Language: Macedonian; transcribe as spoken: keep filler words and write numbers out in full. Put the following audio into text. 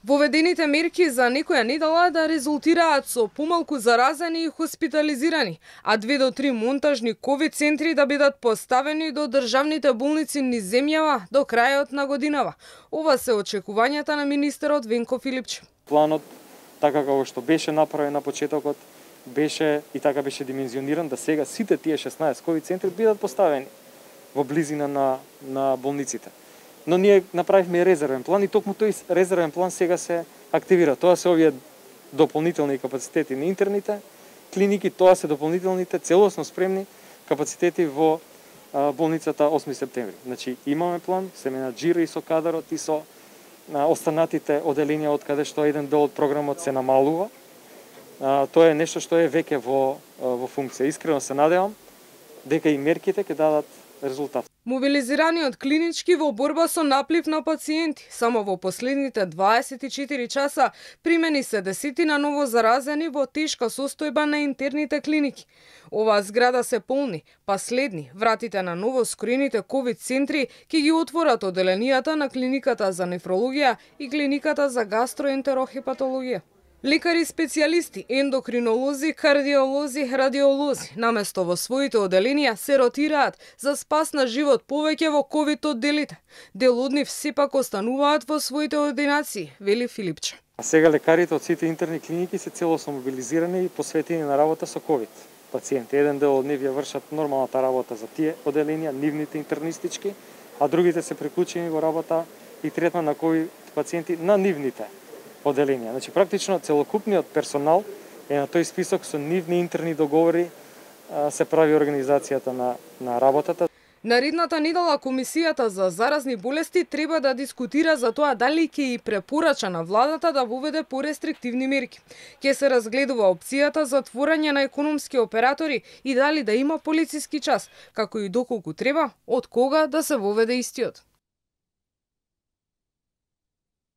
Воведените мерки за некоја недела да резултираат со помалку заразени и хоспитализирани, а две до три монтажни ковид центри да бидат поставени до државните болници низ земјава до крајот на годинава. Ова се очекувањата на министерот Венко Филипче. Планот, така како што беше направен на почетокот, беше и така беше димензиониран да сега сите тие шеснаесет ковид центри бидат поставени во близина на на болниците. Но ние направивме резервен план и токму тој резервен план сега се активира. Тоа се овие дополнителни капацитети на интерните клиники, тоа се дополнителните целосно спремни капацитети во а, болницата осми септември. Значи имаме план, се менаџира и со кадарот и со а, останатите оделенија од каде што еден дел од програмот се намалува. А, тоа е нешто што е веќе во во функција. Искрено се надевам дека и мерките ќе дадат резултат. Мобилизираниот клинички во борба со наплив на пациенти. Само во последните дваесет и четири часа примени се десетина ново заразени во тешка состојба на интерните клиники. Оваа зграда се полни, па следни вратите на ново скроените ковид центри ќе ги отворат оделенијата на клиниката за нефрологија и клиниката за гастроентерохепатологија. Лекари специјалисти, ендокринолози, кардиолози, радиолози, наместо во своите оделенија се ротираат за спас на живот повеќе во ковид одделите. Дел од нив сепак остануваат во своите ординации, вели Филипче. А сега лекарите од сите интерни клиники се целосно мобилизирани и посветени на работа со ковид пациенти. Еден дел од нив ја вршат нормалната работа за тие оделенија, нивните интернистички, а другите се приклучени во работа и третман на ковид пациенти на нивните оделенија. Значи практично целокупниот персонал е на тој список, со нивни интерни договори се прави организацијата на на работата. Наредната недела Комисијата за заразни болести треба да дискутира за тоа дали ќе и препорача на владата да воведе порестриктивни мерки. Ќе се разгледува опцијата за отворање на економски оператори и дали да има полициски час, како и доколку треба, од кога да се воведе истиот.